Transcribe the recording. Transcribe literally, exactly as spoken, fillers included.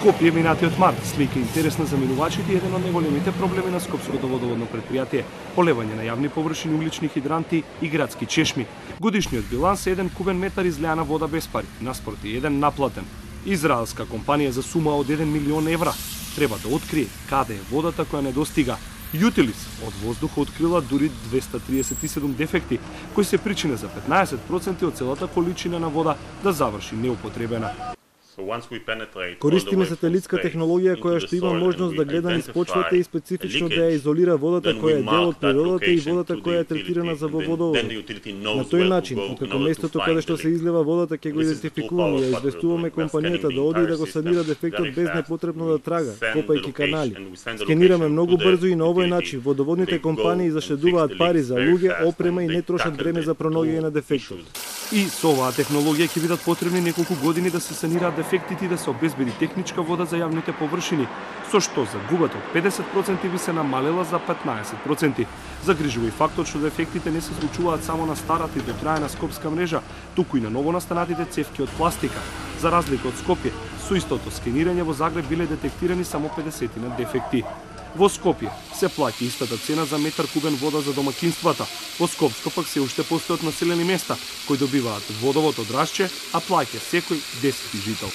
Скопје минатиот март слика интересна за минувачите еден од најголемите проблеми на Скопското водоводно претпријатие – полевање на јавни површини, углични хидранти и градски чешми. Годишниот биланс е еден кубен метар излеана вода без пари, наспроти еден наплатен. Израелска компанија за сума од еден милион евра треба да открие каде е водата која недостига. Јутилис од воздуха открила дури двеста триесет и седум дефекти, кои се причина за петнаесет проценти од целата количина на вода да заврши неупотребена. Користиме сателитска технологија која што има можност да гледа низ почвата и специфично да ја изолира водата која е дел од природата и водата која е третирана за во водоводот. На тој начин, откако местото каде што се излева водата ќе го идентификуваме и ја известуваме компанијата да оди и да го санира дефектот без непотребно да трага, копајќи канали. Скенираме многу брзо и на овој начин водоводните компании заштедуваат пари за луѓе, опрема и не трошат време за пронаоѓање на дефектот. И со оваа технологија ќе бидат потребни неколку години да се санираат дефектите и да се обезбеди техничка вода за јавните површини, со што загубата од педесет проценти би се намалела за петнаесет проценти. Загрижува и фактот што дефектите не се случуваат само на старата и дотраена скопска мрежа, туку и на новонастанатите цевки од пластика. За разлика од Скопје, со истото скенирање во Загреб биле детектирани само педесет дефекти. Во Скопје се плаќа истата цена за метар кубен вода за домакинствата. Во Скопско пак се уште постојат населени места кои добиваат водовод од Рашче, а плаќа секој десети жител.